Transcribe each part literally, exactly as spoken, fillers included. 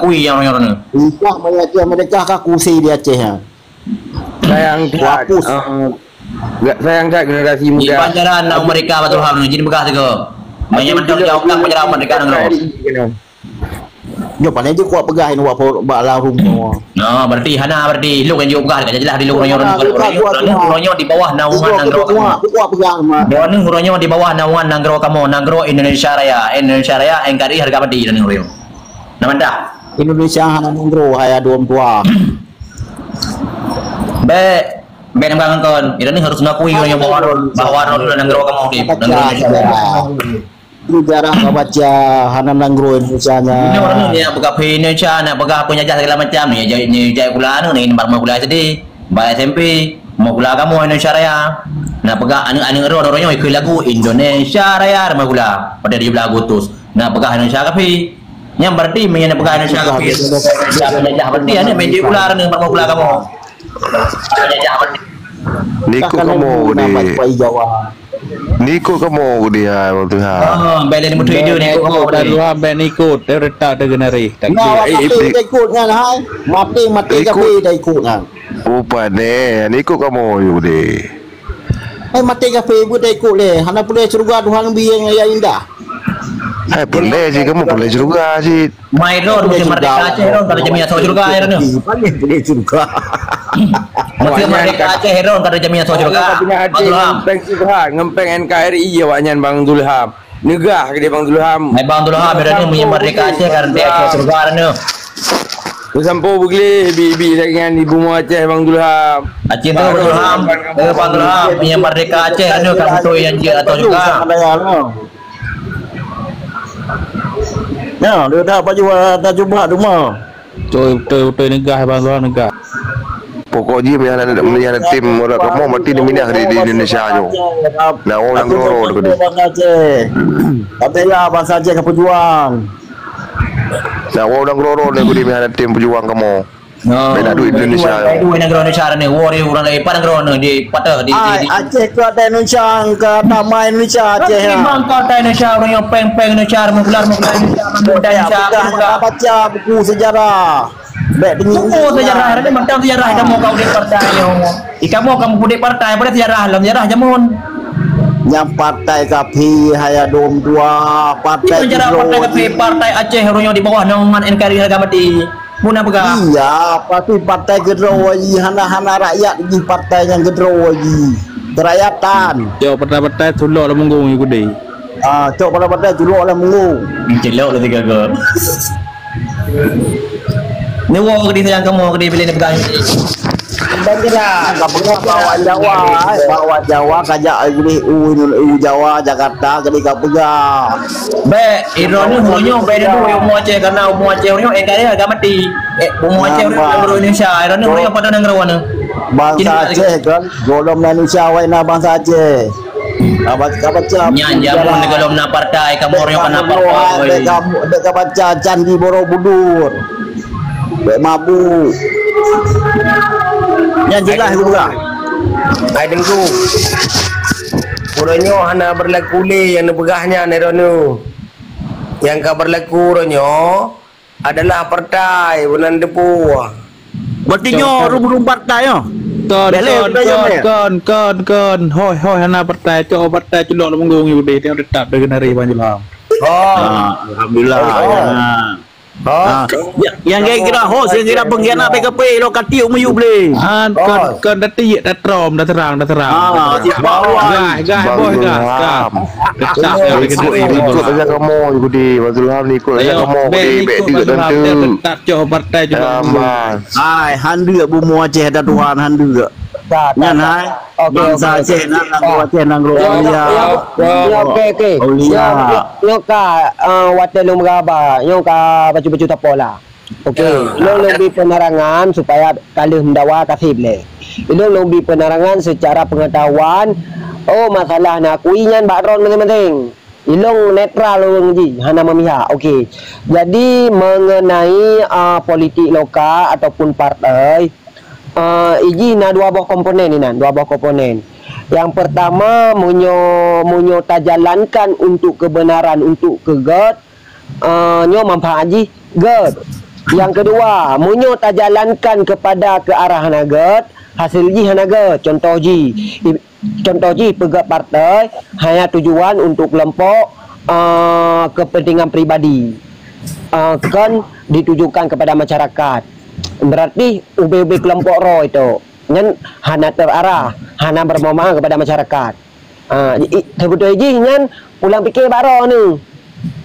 Kui nyang uroe nyoe. Entah banyak dia mereka ka kusi di Aceh, ha. Sayang that, hapus. Eh, sayang that generasi muda. Di pelajaran nak mereka betul ham ni, jadi peugah tu ke. Banyak macam dia orang pelajaran mereka nang. Nyoe paling je kuat peugah ini buat bak larum nyoe. Nah, berarti hana, berarti lok yang jauh peugah, jelas di lok nyoe, nyoe di bawah naungan nanggroe kamoe. Kuat peugah mah. Nyoe nyoe di bawah naungan nanggroe kamoe, nanggroe Indonesia Raya, Indonesia Raya, N K R I harga mati dan nyoe. Nama dah? Indonesia hana nanggroe, hai aduh tua. Bèk, bèk nang kon. Ira ni harus ngakui orang yang bawa rol, bawa rol dalam nanggroe kamoe di nanggroe Indonesia. Sejarah ka baca, hana nanggroe Indonesia nya. Ini orang ni nak peugah Indonesia, nak peugah penjajah segala macam ni, jai ni jai kula ni, ni baru kula S D, ba S M P, mau kula kamoe Indonesia Raya. Nak peugah aneuk-aneuk roh orang nyoe ikut lagu Indonesia Raya, rumah kula pada tujuh belas Agustus. Nak peugah Indonesia kafi. Nyang berarti meunyoe nak peugah Indonesia kafi. Dah penjajah berarti aneuk main di kula ni, rumah kula kamoe. Penjajah berarti. Nikuk kamoe gede. Nikuk kamoe gede hai Bang Tuha. Ah, bèk lé mutu ide nikuk kamoe gede. Dua bèk nikuk, dia retak dia genari. Nah, mati ikut nyan hai. Mati, mati kafi dah ikut nyan. Upat deh, nikuk kamoe gede. Hai mati kafi buet dah ikut lé. Hana peureulèe syeuruga Tuhan bi nyang indah. Hai peureulèe cit, kamoe peureulèe syeuruga cit. Mai droe meusti merdeka Aceh droe kada jamiah syeuruga ya droe. Paling peureulèe syeuruga. Meusti merdeka Aceh droe kada jamiah syeuruga. Bang Zulham. Ngempeng Subhan, ngempeng N K R I awaknyan Bang Zulham. Neugah keudeh Bang Zulham. Hai Bang Zulham, ya droe meusti merdeka Aceh kada jamiah syeuruga droe. Beusampoe beugleh bi-bi lagèe nyan di bumoe Aceh Bang Zulham. Aceh tu Bang Zulham, eh Bang Zulham, meusti merdeka Aceh droe ka beutôi nyang jeuet atau juga. Ya, dia dah baju dah jubah duma. Beutôi, beutôi, beutôi neugah Bang Zulham neugah. Pokok jih meunan meunan tim orang kamoe mati diminah di, di Indonesia nyoe. Nah, orang nanggroe tu. Tapi ya bangsa Aceh ka pejuang. Nah, orang nanggroe ni budi meunan tim pejuang kamoe. No. Beda duit Indonesia. Beda duit nanggroe Indonesia ni. Wo di urang lain pan nanggroe ni di patah di di. Aceh ke ada Indonesia, ke tamai Indonesia Aceh. Bangka Indonesia orang yang peng-peng Indonesia, menggelar menggelar Indonesia, menggelar Indonesia. Baca buku sejarah. Bèk teungoh. Buku sejarah ni macam sejarah kamoe kau di partai nyoe. Di kamoe kamoe pudek partai pada sejarah dalam sejarah jamun. Nyang partai kafi hai dum dua partai. Sejarah partai kafi partai Aceh orang yang di bawah naungan N K R I harga mati. Muna peugah. Iya, pasti partai keudroe jih hana-hana rakyat jih partai nyang keudroe jih. Kerakyatan. Yo partai-partai tulok lam munggong Yahudi. Ah, cok pada-pada culok lam munggong. Celok lah tiga gol. Ni wo ke di sayang kamu ke di pilih ni pegang. Bang Jera. Ka peugah bawah Jawa, eh, bawah Jawa kajak gurih u, u Jawa Jakarta ke di ka peugah. Bèk, iroh ni huruf nyoh bèk dulu yang umur Aceh karena umur Aceh huruf nyoh eh kaya agak mati. Eh, umur Aceh huruf nyoh Indonesia, iroh ni huruf nyoh pada nanggroe ni. Bangsa Aceh kan, golom Indonesia wai na bangsa Aceh. Ka baca, ka baca. Nyan jameun golom na partai, kamoe nyoe ka na partai. Dek ka, dek ka baca Candi Borobudur. Dek mabuk. Nyan jelas juga. Hai Teungku. Uroe nyoe hana berlaku lé nyang neupeugah nyan, Eronu. Nyang ka berlaku uroe nyoe, adalah partai bunan teupeue. Berarti nyoe rubrum partai nyoe. Kon, kon, kon, kon, kon. Hoi, hoi, hana partai. Cok partai culok lam munggong Yahudi. Tengok tetap dah kena rih Bang Julham. Oh. Ah, alhamdulillah. Oh. Ya. Oh. Ah. Ya, yang kira host, yang kira pengkhianat P K P, lo kati umur you boleh. Ah, kon, kon, dah tiek, dah trom, dah terang, dah terang. Ah, tiek bawah. Gas, gas, bos, gas, gas. Ikut, ikut saja kamu, Yudi. Fazlul Ham ni ikut saja kamu, Yudi. Bek juga tentu. Tetap cok partai juga. Aman. Hai, handuk bumoe Aceh ada Tuhan, handuk. Nyan hai. Bangsa Aceh nak, nak Aceh nang. Oke, oke. Nyoka, eh, watèe lôn meuraba, nyoka bacut-bacut tapo lah. Oke, ilôn lôn bri penerangan supaya ka lheueh meudawa ka sép lé. Ilôn lôn bri penerangan secara pengetahuan, oh, masalah na kui nyan bak droen maséng-maséng. Ilôn netral ureueng jih, hana memihak. Oke. Jadi mengenai, ah, politik lokal ataupun partai, ah, ijih na dua boh komponen inan, dua boh komponen. Yang pertama, meunyoe, meunyoe tajalankan untuk kebenaran, untuk keu gèt, eh, nyoe manfaat jih gèt. Yang kedua, meunyoe tajalankan kepada ke arah hana gèt, hasil jih hana gèt. Contoh jih, i-, contoh jih peugèt partai hanya tujuan untuk kelompok, eh, kepentingan pribadi, eh, kon ditujukan kepada masyarakat. Berarti ubé-ubé kelompok roh itu. Nyan hana terarah, hana bermanfaat kepada masyarakat. Ah, i-, i-, seubeutôi jih nyan pulang pikir bak droeneuh.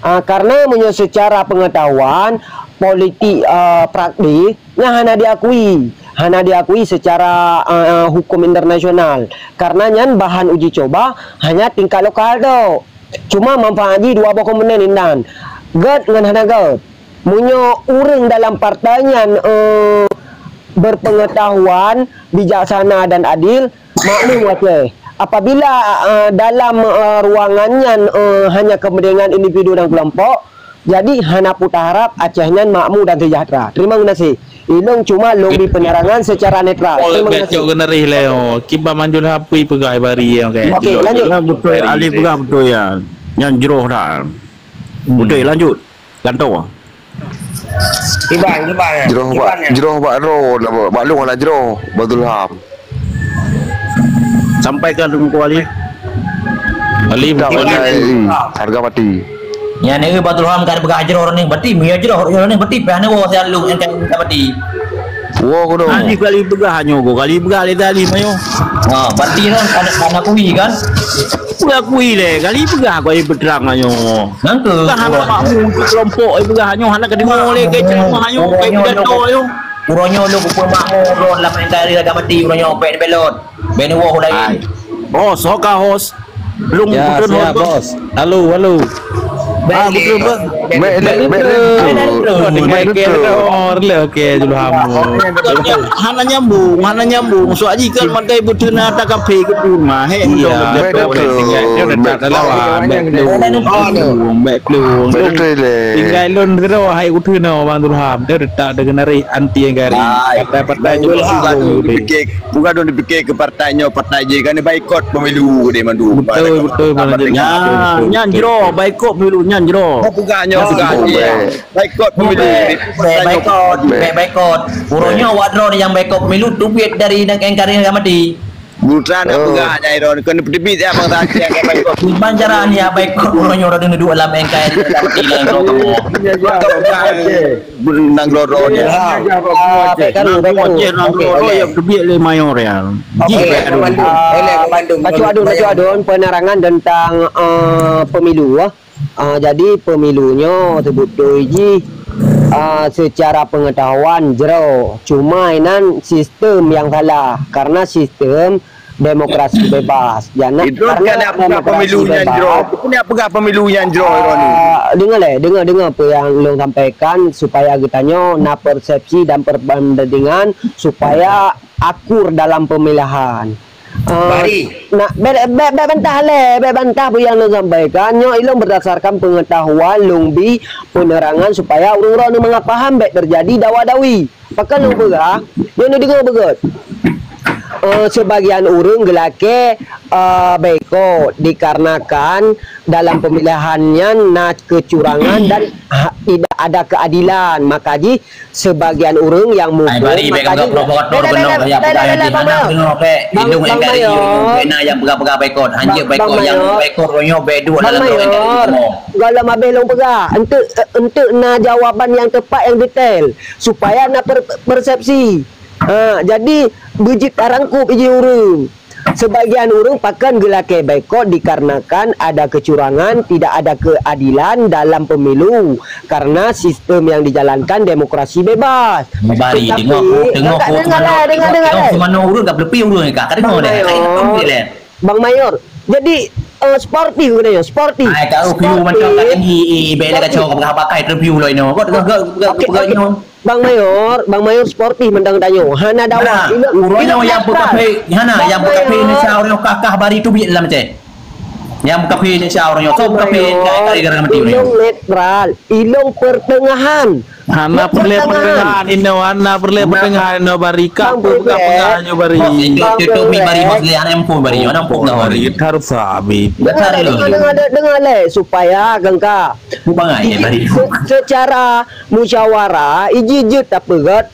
Ah, karena meunyoe secara pengetahuan politik, ah, praktis, nyan hana diakui, hana diakui secara, ah, hukum internasional. Karena nyan bahan uji coba hanya tingkat lokal tok. Cuma manfaat jih dua boh komponen inan. Gèt ngon hana gèt. Meunyoe ureueng dalam partai nyan, eh, berpengetahuan, bijaksana dan adil, maklum Aceh. Apabila, eh, dalam, eh, ruangan nyan, eh, hanya kepentingan individu dan kelompok, jadi hana peue taharap Aceh nyan makmu dan sejahtera. Terima kasih. Ilong cuma lôn bri penerangan secara netral. Oh, terima kasih. Cok keuneurih lé, oh. Kiban manjun hapui peugah bari, ya, okey. Okey, lanjut. Ya, betul, Ali peugah betul, ya. Nyan jroh dah. Hmm. Betul, lanjut. Gantoe. Iban, Iban, ya. Jroh bak, Iban, ya. Jroh bak droe, bak lôn hana jroh, Badul Ham. Sampaikan Teungku Ali. Ali, tak, betul. Iban, ya. Harga mati. Nyan, eh, Badul Ham ka peugah jroh ni, berarti meunyo jroh ni, berarti payah neuwoe siat lôn nyang ka mati. Woe keunoe. Ali kali peugah nyoe, kali peugah lé tadi, mayo. Ha, berarti kan, kan, kan akui kan? Peugah akui lé, kali peugah kali peutrang nyoe. Nangkeu. Peugah hana makmu untuk kelompok, eh, peugah nyoe hana kedengo lé, ke ceramah nyoe, ke pidato nyoe. Uroe nyoe lôn kupeumakmu droe lam N K R I harga mati, uroe nyoe bèk neubelot. Bèk neuwoe laén. Hai. Bos, ho ka host. Lôn kutreun host, bos. Halo, halo. Ah, kutreun, bos. Bèk lé, bèk lé. Bèk lé. Okey, dulu hamba. Hana nyambung, hana nyambung. Soal jih kan makai beuteuh na ta kafe ke rumah. Hei, iya, betul. Bèk lé. Bèk lé. Bèk lé. Bèk lé. Tinggai lôn sidroe hai kutreun Bang Dulham. Dia tetap dengan anti yang gari. Partai-partai juga. Bukan dong dipikir ke partai nyoe, partai jih kan baikot pemilu deh mandu. Betul, betul, betul. Nyan, nyan jroh, baikot pemilu nyan jroh. Bukan nyoe, bukan. Baikot pemilu. Baikot, baikot. Uroe nyoe awak droe nyang baikot pemilu teubiet dari N K R I harga mati. Bukan nak peugah nyai droe, kena peuteubiet ya bangsa Aceh. Iban cara ni ya baikot uroe nyoe droe duek lam N K R I harga mati dalam droe kamoe. Nang loro dia. Ya, ya, ya, ya, ya. Nang loro dia, nang loro dia, kebiet lé mayor ya. Okey, Komando. Boleh, Komando. Pacu Adun, Pacu Adun, penerangan tentang, eh, pemilu, ah. Ah, jadi pemilu nyoe sebeutôi jih, ah, secara pengetahuan jroh. Cuma inan sistem yang salah. Karena sistem demokrasi bebas. Jana, itu karena kan demokrasi pemilu nyan bebas. Jroh. Itu nak peugah pemilu nyan jroh, Roni. Ah, dengar leh, dengar, dengar apa yang long sampaikan supaya geutanyoe na persepsi dan perbandingan supaya akur dalam pemilihan. Ah, nak, bèk, bèk, bèk bantah leh, bèk bantah apa yang long sampaikan. Nyoe ilong berdasarkan pengetahuan, long bi penerangan supaya ureueng-ureueng ni mangat paham bèk terjadi dawa-dawi. Pakon lôn peugah, nyoe neudeungoe beugöt. Eh, sebagian ureueng geulakèe, eh, boikot dikarenakan dalam pemilihan nyan na kecurangan dan ha, tidak ada keadilan. Maka jih sebagian ureueng yang mukul, maka jih, Bang Mayor, Bang Mayor, gohlom abéh lôn peugah. Enteuk, enteuk na jawaban nyang tepat, nyang detail. Supaya na per-, persepsi. Ha, jadi beujeuet tarangkup iji ureueng. Sebagian ureueng pakon geulakèe boikot dikarenakan ada kecurangan, tidak ada keadilan dalam pemilu karena sistem yang dijalankan demokrasi bebas. Bari, tetapi, dengar, dengar, dengar, dengar, dengar, dengar, dengar. Semana ureueng ka beuleupie ureueng ka, ka dengar deh. Bang Mayor, Bang Mayor. Jadi, eh, sportif keunoe, sportif. Ai, tahu view macam kat tinggi, i, i, bela kacau, pakai interview lah ini. Kau dengar, kau, kau, kau, kau, Bang Mayor, Bang Mayor sportif mantong tanyoe. Hana dawa. Hana, ureueng nyang peukaphé, hana, nyang peukaphé Indonesia ureueng kakah bari teubiet lam Aceh. Nyang kafé Indonesia ureueng nyoe, soe kafé Indonesia gara-gara mati ureueng nyoe. Ilong netral, ilong pertengahan. Hana peureulèe pertengahan, inoe hana peureulèe pertengahan, inoe bari ka peugah-peugah nyoe bari. Bang Tutup mi bari Bos Lé, aneuk muphom bari, aneuk muphom dah bari. Harus habis. Dengar lé, dengar lé, dengar lé, supaya gengka. Bukan ai bari. Se-, secara musyawarah, iji jeuet tapeugöt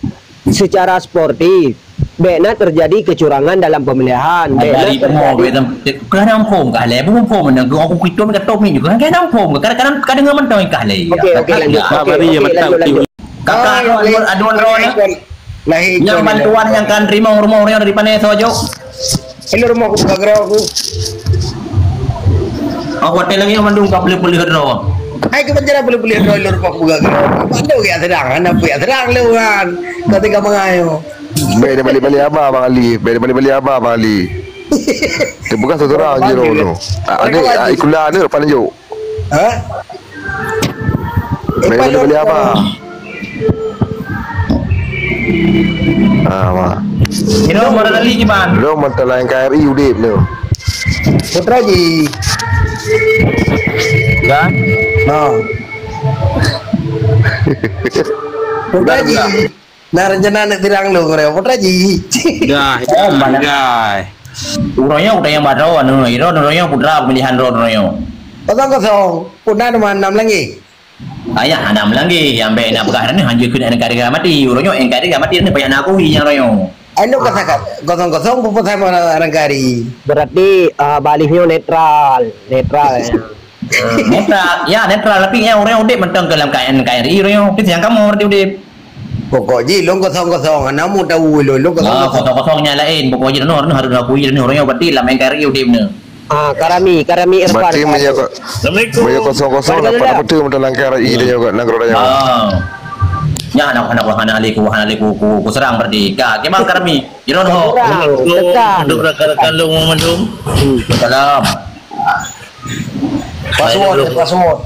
secara sportif. Bèk na terjadi kecurangan dalam pemilihan. Bèk na terjadi. Keu aneuk muphom kah lé, bukan muphom, aku kitom ka top ni juga. Keu aneuk muphom, kadang-kadang, kadang mantong kah lé. Oke, oke, lanjut. Oke, oke, lanjut, lanjut. Kakak, aduan, aduan droe nyoe. Lahé nyang ikon bantuan nyang kan teurimong rumoh ureueng dari pané soe jok? Ilôn rumoh kubuka keudroe ku. Oh, watèe lagèe nyan mandum ka peuleuh-peuleuh droe. Hai keu panjara peuleuh-peuleuh droe ilôn rumoh kubuka keudroe. Padu gèt seudang, hana pih seudang lôn kan. Ka teuka mangayo. Bèk dia balik-balik haba Bang Ali, bèk dia balik-balik haba Bang Ali. Teupeugah seurang je droe tu. Aneuk ikula aneuk depan jok. Ha? Beli, beli, beli apa? Ah, wah. Kira mana tadi, Iban? Lo mantap lain K R I udip tu. Putra Ji. Kan? Ha. Putra Ji. Nah, rencana nak tirang lu, Putra Ji. Dah, dah. Uroe nyoe udah nyang baroe anu, iro uroe nyoe putra pemilihan ro uroe nyoe. Kosong kosong, puna nama enam lagi. Ayah enam lagi, yang baik nak peugah ni hanya kena N K R I mati. Uroe nyoe N K R I mati ni banyak nak akui nyang uroe nyoe. Anu kosong kosong, pupuk sama orang kari. Berarti, ah, balih nyoe netral, netral ya. Netral, ya netral, tapi nyang uroe nyoe udip mantong ke dalam N K R I uroe nyoe, tapi nyang kamoe berarti udip. Pokok jih lôn kosong kosong, hana mu tahu lôn, lôn kosong kosong. Ah, kosong kosong nyang lain. Pokok jih lôn harus akui lôn uroe nyoe berarti lam N K R I udip ni. Ah, Karami, Karami Irfan. Berarti meunyoe ko-, meunyoe kosong kosong dapat apa tu mantong N K R I dan juga nanggroe dan juga. Ah. Nya anak-anak wahana liku, wahana liku, ku, ku serang berarti. Ka, kemang Karami. Iron ho. Serang, tekan. Untuk rakan-rakan lôn mandum. Salam. Password, password.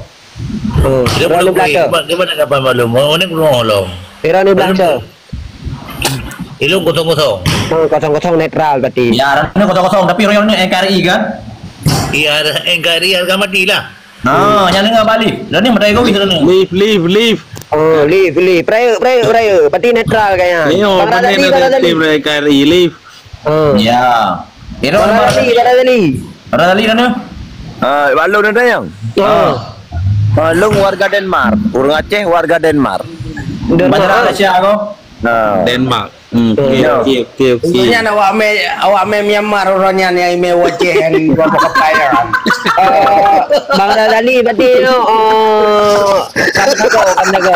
Oh, dia belum beri. Sebab dia mana kapan maklum? Mana belum maklum? Pira ni belanja? Ilung kosong kosong. Oh, kosong kosong netral berarti. Ya, ni kosong kosong, tapi royal ni N K R I kan? Iya, N K R I harga mati lah. Nah, yang dengar balik. Dah ni mata egois dah ni. Leave, leave, leave. Oh, leave, leave. Peraya, peraya, peraya. Berarti netral kayaknya. Bang Radali, Bang Radali. Tim N K R I, leave. Oh. Ya. Kira Bang Radali, Bang Radali. Radali dah ni? Ah, Bang Long dah tayang? Ah. Ah, Long warga Denmark. Urang Aceh warga Denmark. Denmark. Banyak Malaysia aku. Nah. Denmark. Hmm, okey, okey, okey, okey. Sebenarnya awak meh, awak meh Myanmar orang nyan yang ime wajah yang dua puluh kepala. Eh, Bang Radali berarti tu, oh, kan jaga, kan jaga.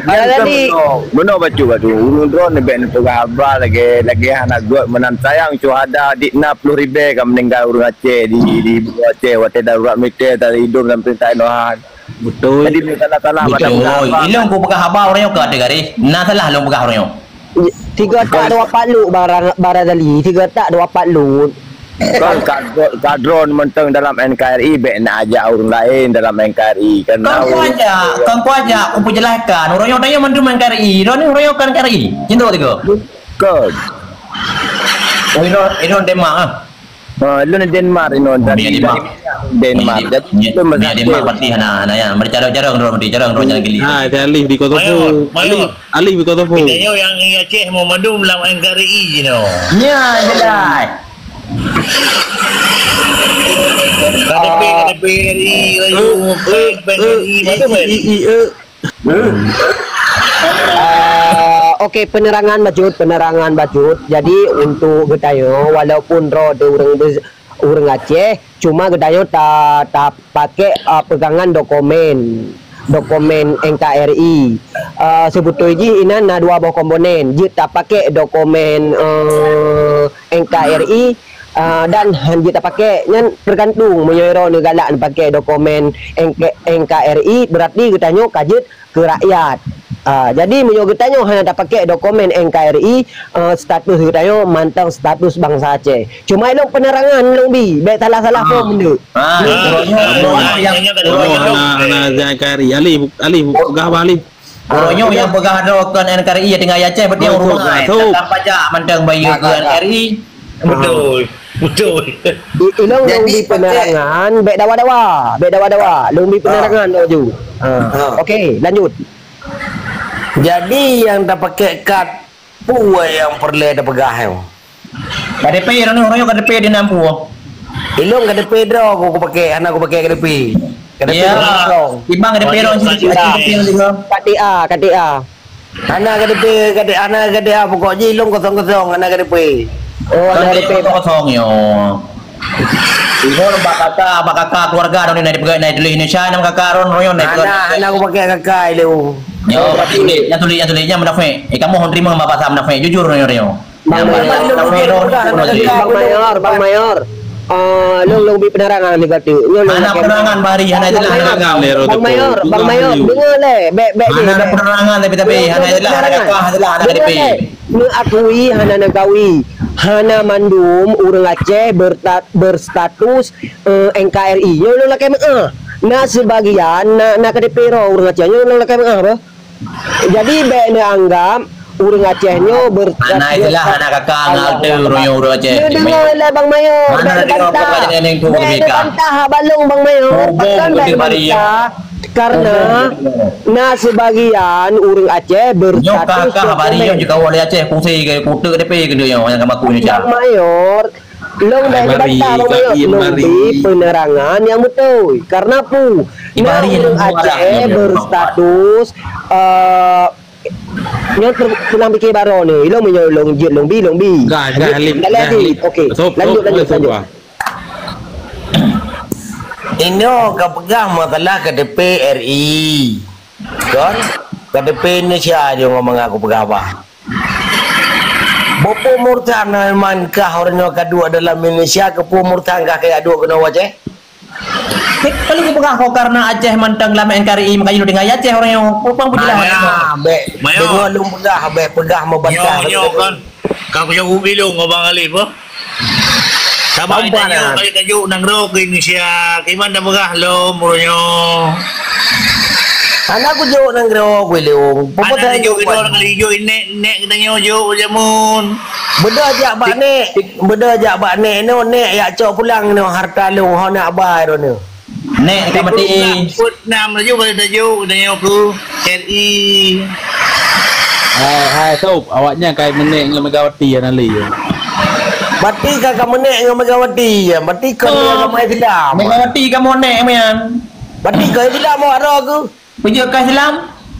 Bang Radali. Meno bacut batu. Urang droe ni bèk neupeugah haba lagèe, lagèe hana göt meunan sayang syuhada di enam puluh ribu ka meninggal urang Aceh di, di Aceh watèe darurat militer dari idong dan perintah Tuhan. Betul. Jadi, salah-salah macam apa? Ilong ku peugah haba urang nyoe ka teugaréh. Na salah lôn peugah urang nyoe. Tiga tak dua pat lut barang, barang tali. Tiga tak dua pat lut. Kon kadro-, kadron mantong dalam N K R I, bèk nak ajak urang laén dalam N K R I. Kan kon ku ajak, kon ku ajak, ku peujelaskan. Urang nyoe tanya mandum N K R I. Urang ni urang nyoe kan N K R I. Cinta tiga. Kon. Oh, ino, ino Denmark ah. Ha, lôn Denmark inoe, dari Denmark. Denmark. Jadi, lôn Denmark berarti hana, hana ya. Bercarang-carang droe, berarti carang droe jalan gili. Ha, ada Alif di Kosovo. Alif, Alif di Kosovo. Kita nyoe yang Aceh mau mandum lam N K R I jinoe. Nya, jelas. K T P, K T P R I, rayu, P N R I, macam mana? Ah, okey, penerangan bacut, penerangan bacut. Jadi, untuk geutanyoe, walaupun droe teuh ureueng bes-, ureueng Aceh, cuma geutanyoe ta-, tapakék, ah, peugangan dokumen, dokumen N K R I. Ah, seubeutôi jih inan na dua boh komponen. Jeuet tapakék dokumen, eh, N K R I, ah, dan han jeuet tapakék. Nyan teugantung, meunyoe droeneuh galak neupakék dokumen N K, N K R I, berarti geutanyoe ka jeuet keu rakyat. Ah, jadi meunyoe geutanyoe hana tapakék dokumen N K R I, ah, status geutanyoe mantong status bansa Aceh. Cuma ilong penerangan lôn bi, bèk salah-salah faham tu. Ah, hana, hana N K R I. Alif, Alif, peugah apa Alif? Uroe nyoe nyang peugah droe kon N K R I tinggai Aceh, berarti ureueng rumah. Tanpa pajak mantong bayeue keu N K R I. Betul. Betul. I- Ilong lôn Jadi, bi pakai penerangan, bèk dawa-dawa, bèk dawa-dawa. Lôn bi Ah. penerangan laju. Ha. Ah. Okey, lanjut. Jadi, nyang tapakai kad peue nyang peureulèe tapeugah nyoe? K T P, roh nyoe, roh nyoe K T P di nam peue? Ilong K T P droe ku, ku pakai, hana ku pakai K T P. K T P Ya. droe kosong. Ibang K T P Oh, roh ya, sini, K T A. K T P juga. K T A, K T A. Hana K T P, K T A, hana K T A, pokok jih ilong kosong-kosong, hana K T P. Oh, hana Kan K T P. dia kosong, yo. Ibu bak kakak, bak kakak keluarga dong ni, naik peugah, naik tulis Indonesia, nama kakak Ron, Royon, naik Hana, peugah. hana aku pakai kakak ilong. Yo, berarti tulis, yang tulis, yang tulis, yang munafik. Eh, kamu terima bahasa munafik, jujur, Royon, Royon. Bang Yang Mayor, bahasa Bang munafik, Mayor, Royon, Royon, Royon. Bang Mayor, Bang Mayor. Ah, lôn, lôn bi penerangan ni kata. Nyoe lôn Hana lakèe penerangan, Bang Ari, hana Bang jelas, Mayor, hana Bang Mayor, Bang Mayor, deungö lé, bèk, bèk, Hana bèk, ada bèk. penerangan, tapi, tapi, Deungö hana lé, jelas, hana penerangan. kakak, hana jelas, Deungö KTP. lé. Neukui hana neugawé, hana mandum ureueng Aceh berta-, berstatus, eh, N K R I. Nyoe lôn lakèe meu'ah. Na sibagian, na, na K T P droe ureueng Aceh. Nyoe lôn lakèe meu'ah, bah. Jadi, bèk neuanggap ureueng Aceh nyoe berstatus Hana istilah, hana kakak, ngal teu ureueng nyoe ureueng Aceh. Nyoe deungö lé, Bang Mayor. Hana Bèk ada neubantah. kakak yang tu Bèk berbeda. neubantah haba lôn, Bang Mayor. Hubung Pakon bèk betul bari. neubantah? Karena Na sibagian ureueng Aceh Nyoe berstatus kah-kah bari nyoe dokumén. jeuet kawoe lé Aceh, pusé ke, kuteuk K T P keuneuk nyoe nyang ka maku Indonesia. Bang Mayor, lôn Hai bèk bari, bantah, Bang Mayor, lôn bari. bi penerangan nyang beutôi. Karena peue? Di Na bari ureueng nyang Aceh muara. berstatus, eh, nyoe ter-, pulang pikir baroe ni. Ilong meunyoe lôn jeuet lôn bi, lôn bi. Dah, dah, Lanjut, Alif, dah, dah, Alif. Alif. Okey, Sop, lanjut, sop, lanjut, sop, lanjut. ah. Inoe ka peugah masalah K T P R I. Kon? K T P Indonesia je ngon mangat kupeugah bah. Bukon murtad na iman kah ureueng nyoe ka duek dalam Indonesia, keupeue murtad kah kajak duek keunoe u Aceh? Kali kupeugah kok karena Aceh mantong lam N K R I, makajih lôn tinggai Aceh ureueng nyoe. Peue pang peujeulah Mana? Bèk. Mayo. Deungö lôn peugah, bèk peugah meubantah. Nyoe, nyoe kan. Ka kujaweueb ilong ngon Bang Alif, boh. Saban Apa tanyoe, dah? Kali tajuk nanggroe ke Indonesia, kiban tapeugah lom, uroenyoe. Hana kujok nanggroe ku ilong. Hana tajuk ilong, kali jok nek, nek geutanyoe jok jameun. Beudôh jak bak nek, beudôh jak bak nek, nyoe nek yak cok pulang nyoe harta lôn, ho nak ba droeneuh. Nek ka mati. Peuet nam laju ka tajuk, tanyoe keu R I. Hai, hai, Sop, awaknyan kai meunek ngon Megawati ya, Nali. Berarti ka, ka meunek ngon Megawati ya, berarti ka Oh, agama Islam. Megawati ka meunek, mian. Berarti ka Islam awak droe keu? Peujeuet ka Islam?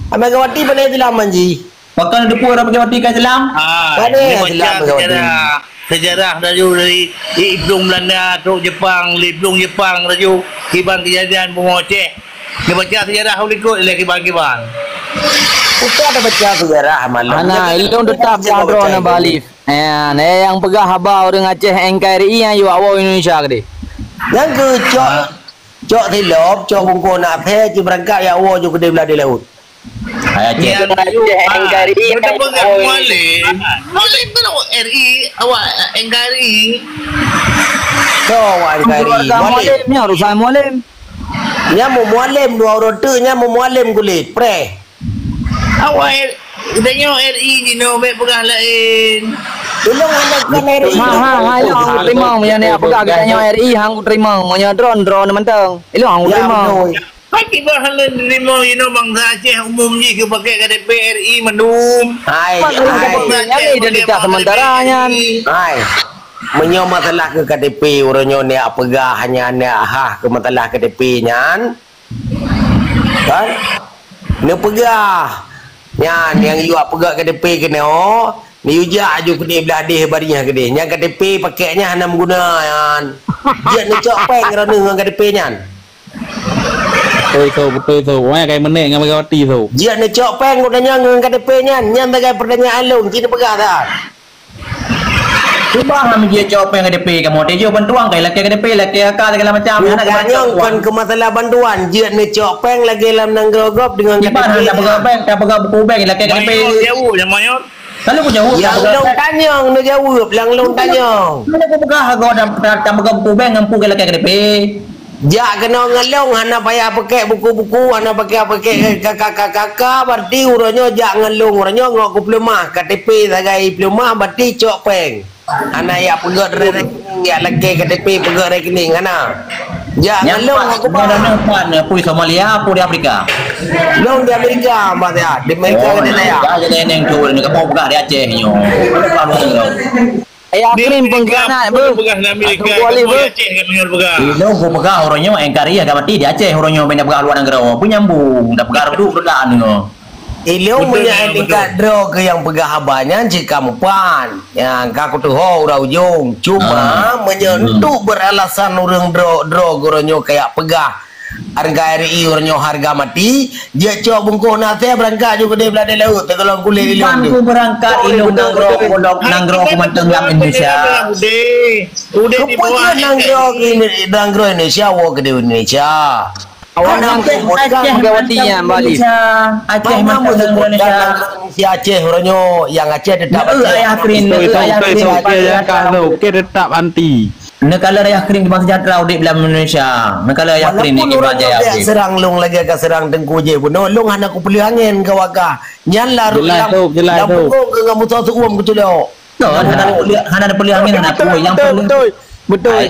Megawati bukan Islam, Manji. Pakon teupeue orang Megawati ka Islam? Ah, Mana dia baca Islam Megawati? Sejarah. Sejarah laju dari di Iplueng Belanda, trok Jepang, di Iplueng Jepang laju kiban kejadian bumoe Aceh. Dia baca sejarah ulikot lé kiban-kiban. Bukan ada baca sejarah malam. Ana, ilong tetap Dia baca jahdroe na sejarah. Balif. Eh, nyang peugah haba ureueng Aceh N K R I nyang yue awak Indonesia keudeh. Nyang keu cok, Ah. cok silop, cok bungkôh nak phé, ci beurangkat ya awak ju keudeh blah di laut. Hai Aceh. Nyan Aceh, ah, N K R I, beutôi peugah oh, Mualem. Mualem kan awak R I, awak N K R I. Soe awak N K R I? Keluarga Mualem. Mualem ni, urusan Mualem. Nyan mu Mualem dua ureueng teuk, nyan mu Mualem kulét, preh. Awak R-, geutanyoe R I jinoe, bèk peugah laén. Tolong anda bukan R I. Ha, ha, ha, ilong hang terima, meunyoe ni peugah geutanyoe R I, hang terima, meunyoe droen, droen mantong. Ilong hang terima. Ya, betul. Hai, kiban hana teurimong inoe bansa Aceh umum jih keu pakai K T P R I mandum. Hai, Masalah hai. K T P nyan identitas sementara nyan. Hai. Meunyoe masalah keu K T P, uroe nyoe neujak peugah nyan, neujak hah keu masalah K T P nyan. Kan? Neupeugah. Nyan, nyang yue peugah K T P keunoe, neuyue jak aju keudeh blah deh baringah keudeh. Nyan K T P pakai nyan hana meuguna nyan. Jeuet neucok péng droeneuh ngon K T P nyan. Beutôi, Sob, beutôi, Sob. Wah, kai meunek ngon Megawati, Sob. Jeuet neucok péng geutanyoe ngon K T P nyan. Nyan sagai peurtanyaan lôn, ci neupeugah that. Cuba hana jeuet cok péng K T P kamoe. Teujoh bantuan kai lakèe K T P, lakèe A K, segala macam. Hana Bukan nyoe, kon keu masalah bantuan. Jeuet neucok péng lagèe lam nanggroe gob deungon K T P. Cuba hana tapeugah péng, tapeugah buku bank, lakèe K T P. Mayor, jaweueb, ya, Mayor. Lalu ku jaweueb, ya, tak peugah. Ulôn tanyong, neujaweueb, lam lôn tanyong. Lalu ku peugah, aku dah, dah, dah peugah buku bank, ngampu ke lakèe K T P. Jak keunoe ngon lôn, hana payah pakai buku-buku, hana pakai, pakai K K K K K, berarti uroe nyoe jak ngon lôn, uroe nyoe ngon ku peuleumah, K T P sagai peuleumah, berarti cok péng. Hana yak peugöt rekening, yak lakèe K T P peugöt rekening, hana. Jak ngon lôn aku, Pak. Nyoe pan, pui Somalia, pui di Afrika. Lôn di Amerika, Mbak, ya. Di Amerika. Oh, kita, ya. Jadi neng tu, ni kamu peugah di Aceh nyoe. Ayah Krim pengkhianat, beuh. Peugah di Amerika, kamu di Aceh, kat nyoe peugah. Ilôn ku peugah uroe nyoe, N K R I ka mati di Aceh uroe nyoe, bèk na peugah luwa nanggroe. Peue nyambung, na peugah reuduk reudak nyoe. Ilôn meunyo tingkat droe keu nyang peugah haba nyan cit ka mupan. Nyang ka kuteuho uroe ujong. Cuma meunyo untuk beralasan ureueng droe, droe geuronyoe kayak peugah harga R I uroe nyoe harga mati, jeuet cok bungkôh nasèe beurangkat ju keudeh blah di laôt, teugeulong kulét ilôn. Bukan ku beurangkat ilôn nanggroe, nanggroe ku mantong lam Indonesia. Udeh, udeh di bawah. Nanggroe Indonesia woe keudeh Indonesia. Awak nang Aceh, Aceh Megawati mantap nyan, Bali. Indonesia. Aceh mantap Indonesia. Indonesia Aceh uroe nyoe, nyang Aceh tetap Aceh. Ayah Krim, Ayah Krim. Okey, tetap anti. Neukalon Ayah Krim Kibang Sejahtera udép lam Indonesia. Neukalon Ayah Krim ni Kibang Jaya udép. Serang lôn lagèe ka serang Teungku Jeh bunoe, lôn hana kupeuleuh angén keu awak kah. Nyan lah lam, lam bungkôh keu ngon musoh seuuem keu tulok. Betul, hana peuleuh, hana peuleuh angén, hana peue. Nyang betul, peuleuh, betul, betul. Ai,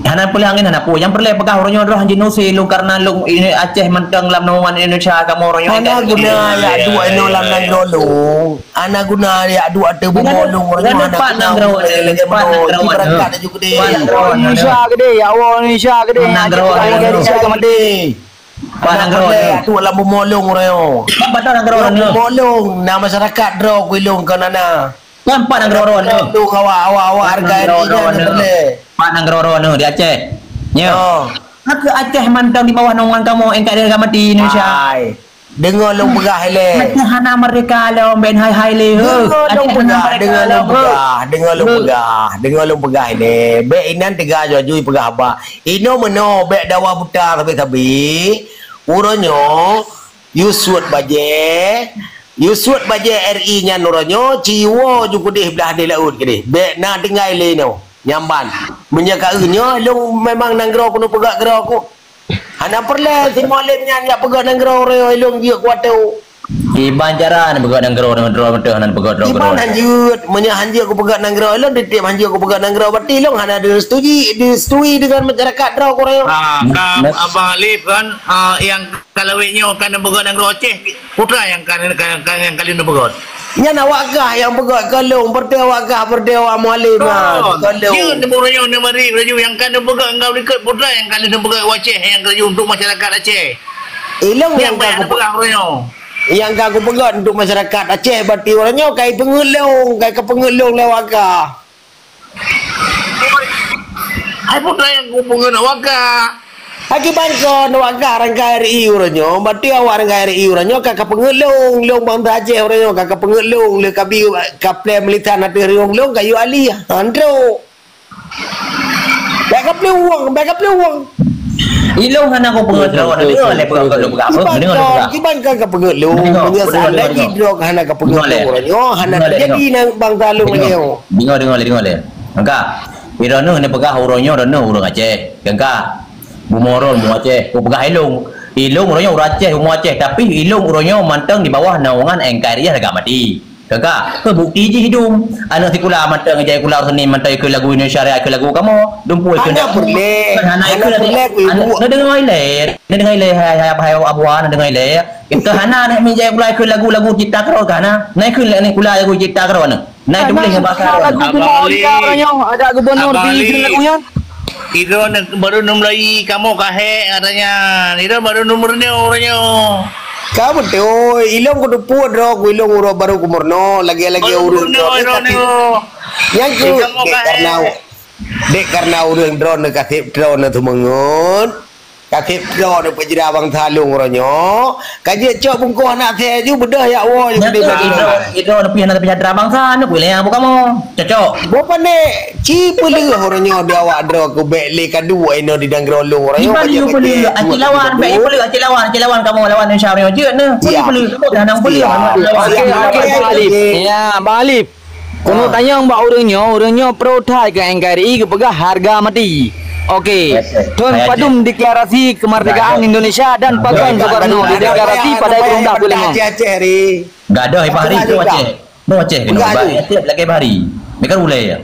hana peuleuh angén, hana peue. Nyang peureulèe peugah uroe nyoe droe hanjeuet nusé lôn kareuna lôn ini Aceh mantong lam naungan Indonesia, kamoe uroe nyoe. Hana guna yak duek inoe lam nanggroe lôn. Hana guna yak duek ateueh bumoe lôn uroe nyoe, hana guna. Pat nanggroe, pat nanggroe. Indonesia keudeh, ya Allah, Indonesia keudeh. Pat nanggroe. Yak duek lam bumoe lôn uroe nyoe. Pat nanggroe. Bumoe lôn, na masyarakat droe ku ilôn kon hana. Kon pat nanggroe droeneuh. Tuh, awak, awak, awak hargai diri nyan peureulèe. Pat nanggroe droeneuh di Aceh. Nyoe. Oh. Ka keuh Aceh mantong di bawah naungan kamoe, N K R I harga mati Indonesia. Hai. Deungoe lôn peugah ilèe. Aceh hana merdeka lom, bèk hai-hai lé, heuh. Deungoe lôn peugah, deungoe lom peugah, deungoe lôn peugah, deungoe lôn peugah ilèe. Bèk inan teuga jujui peugah haba. Inoe meunoe, bèk dawa buta sabe-sabe. Uroe nyoe, Yusuf bajèe, Yusuf bajèe R I nyan uroe nyoe, ci woe ju keudeh blah di laôt keudeh. Bèk na tinggai lé nyoe, nyan ban. Meunyoe ka eu nyoe, lôn memang nanggroe keuneuk peugah keudroe ku. Hana peureulèe si Mualem nyan jak peugah nanggroe uroe nyoe, lôn jeuet kuat tu. Kiban cara neupeugah nanggroe, nanggroe beutôi hana neupeugah droe. Kiban hanjeuet, meunyoe hanjeuet kupeugah nanggroe, lôn tiep hanjeuet kupeugah nanggroe, berarti lôn hana disetujui, disetujui dengan masyarakat droe ku uroe nyoe. Ah, ka Abang Alif kan, ah, yang Ka lawét nyoe ka neupeugah nanggroe Aceh, putra nyang ka, ka, ka, nyang ka lheueh neupeugah. Nyan awak gah nyang peugah keu lôn, berarti awak gah, berarti awak Mualem nyan. Kon. Keu lôn. Jeuet neupeugah nyoe neubari laju nyang ka neupeugah enggau likot putra nyang ka lheueh neupeugah u Aceh nyang laju untuk masyarakat Aceh. Ilôn nyang ka kupeugah uroe nyoe. Nyang ka kupeugah untuk masyarakat Aceh, berarti uroe nyoe ka ipeungeut lôn, ka ipeungeut lôn lé awak gah. Hai putra nyang kupeungeut awak gah. Akiban kon awak gah rangkai R I uroe nyoe, berarti awak rangkai R I uroe nyoe ka kapeungeut lôn, lôn bansa Aceh uroe nyoe ka kapeungeut lôn, lé kabi kaplè meulisan ateueh riong lôn kayue alih. Ha, trok. Bèk kaplè uang, bèk kaplè uang. Ilôn hana kupeungeut droe, deungoe lé peugah lôn peugah. Kiban kon, kiban kon kapeungeut lôn. Meunyoe seandai jih droe hana kapeungeut lôn uroe nyoe, hana teujadi nang bansa lôn nyoe. Deungoe, deungoe lé, deungoe lé. Maka, droeneuh neupeugah uroe nyoe droeneuh ureueng Aceh. Kan ka? Bumoe droe bumoe Aceh. Kupeugah ilôn. Ilôn uroe nyoe ureueng Aceh, bumoe Aceh. Tapi ilôn uroe nyoe mantong di bawah naungan N K R I harga mati. Kan ka? Keu bukti jih dum. Aneuk sikula mantong ijai sikula Senin mantong ikheun lagu Indonesia Raya, ikheun lagu kamoe. Dumpeue ikheun. Hana peureulèe. Hana ikheun. Neudeungoe ilèe. Neudeungoe ilèe, hai, hai, hai, Abu, neudeungoe ilèe. Keu hana aneuk mi ijai sikula ikheun lagu-lagu cipta keudroe keu hana. Na ikheun aneuk sikula lagu cipta keudroe aneuk. Na ituléh ngon bahasa droe. Lagu bumoe Indonesia uroe nyoe, ada gubernur di lagu nyan. Idroe baru neumulai kamoe ka hék katanya. Idroe baru neumeurunoe uroe nyoe. Ka beutôi, ilôn kuteupue droe ku ilôn uroe baru kumeurunoe, lagèe-lagèe ureueng droe. Nyan keuh, dek karena, dek karena ureueng droeneuh ka seb droeneuh seumeungeut. Ka seb droe neupeujra bansa lôn uroe nyoe, ka jeuet cok bungkôh aneuk asèe ju beudôh yak woe ju. Nyan keuh idroe, idroe neupih hana teupeuseujahtra bansa, neupeuleumah buet kamoe. Cocok. Boh pandai, ci peuleueh uroe nyoe di awak droe keu bèk lé ka duek inoe di nanggroe lôn uroe nyoe. Kiban ju peuleueh, aci lawan, bèk ju peuleueh, aci lawan, aci lawan kamoe lawan Indonesia uroe nyoe jeuet neuh. Peuleueh, peuleueh, hana peuleueh. Ya, Bang Alif. Keuneuk tanyong bak ureueng nyoe, ureueng nyoe pro that keu N K R I geupeugah harga mati. Oke. Thon padum deklarasi kemerdekaan Indonesia dan pakon Soekarno dideklarasi pada dua belas puluh lima. Gadoh i Bahri tu Aceh. Tu Aceh kena. Aceh lagi Bahri. Ni kan ulai ya.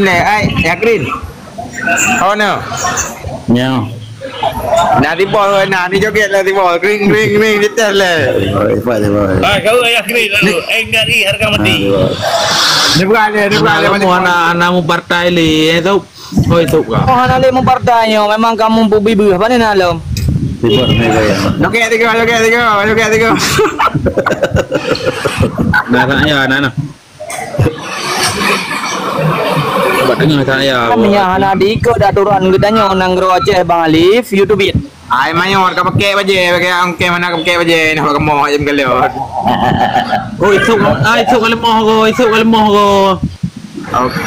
Alim lé. Ai, Yakrin. Oh no. Nyo. Nah, di bawah nah, ni joget lah di bawah. Kring kring kring di atas lah. Oh, hebat, hebat. Ah, kau Yakrin lalu. Engari harga mati. Ah, hebat. Dia bukan dia, dia bukan dia. Kamu anak, anak mu partai lé, eh, tu. Oi, tu kau. Oh, hana lé mu partai nyo, memang kamu peubibeue. Apa ni nak lom? Hebat ni gaya. Joget tiga, joget tiga, joget tiga. Nah, tak ya, nah, nah. Buat tengah tak ya. Kan yang hana diikot aturan geutanyoe nanggroe Aceh Bang Alif, YouTube. Ai mayot ka pakai bajai, pakai angkeh mana ka pakai bajai, nak buat kemoh aja meugalot. Oh, isuk, ah, isuk ka lemoh ko, isuk ka lemoh ko. Oke.